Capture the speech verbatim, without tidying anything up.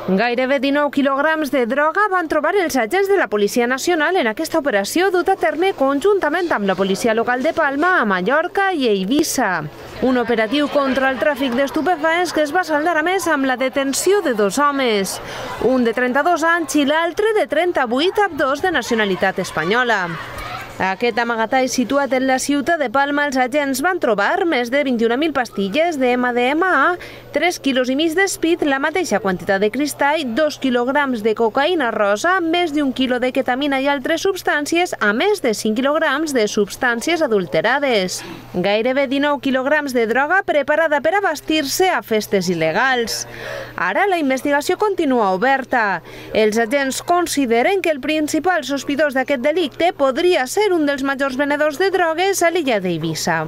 Gairebé dinou quilograms de droga van trobar els agents de la Policia Nacional en aquesta operació duta a terme conjuntament amb la policia local de Palma, a Mallorca i a Eivissa. Un operatiu contra el tràfic d'estupefaents que es va saldar a més amb la detenció de dos homes, un de trenta-dos anys i l'altre de trenta-vuit, ambdós de nacionalitat espanyola. Aquest amagatall situat en la ciutat de Palma, els agents van trobar més de vint-i-una mil pastilles de ema de ema a, tres quilos i mig d'espit, la mateixa quantitat de cristall, dos quilograms de cocaïna rosa, més d'un quilo de ketamina i altres substàncies, a més de cinc quilograms de substàncies adulterades. Gairebé dinou quilograms de droga preparada per abastir-se a festes il·legals. Ara la investigació continua oberta. Els agents consideren que el principal sospitós d'aquest delicte podria ser un dels majors venedors de drogues a l'illa d'Eivissa.